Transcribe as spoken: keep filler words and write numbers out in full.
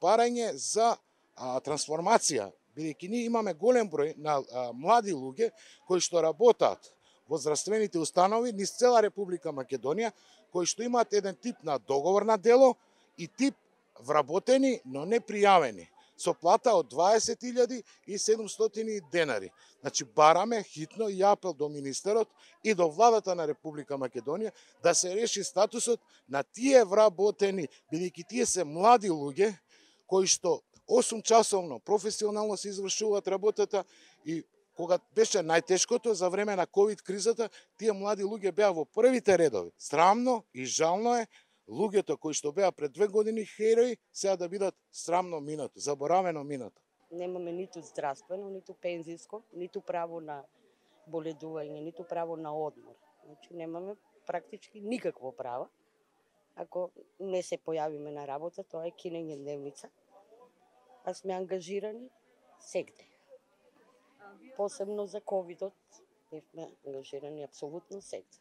барање за а, трансформација, бидејќи ние имаме голем број на а, млади луѓе кои што работат во здравствените установи низ цела Република Македонија, кои што имаат еден тип на договор на дело и тип вработени, но не пријавени, со плата од дваесет илјади и седумстотини денари. Значи, бараме хитно и апел до министерот и до владата на Република Македонија да се реши статусот на тие вработени, бидејќи тие се млади луѓе кои што осум часовно професионално се извршуваат работата и кога беше најтешкото за време на ковид кризата, тие млади луѓе беа во првите редови. Срамно и жално е луѓето кои што беа пред две години херои, сега да бидат срамно минато, заборавено минато. Немаме ниту здравствено, ниту пензиско, ниту право на боледување, ниту право на одмор. Значи немаме практички никакво право. Ако не се појавиме на работа, тоа е кинење дневница. А сме ангажирани сегде. Посебно за ковидот, не сме ангажирани апсолутно сегде.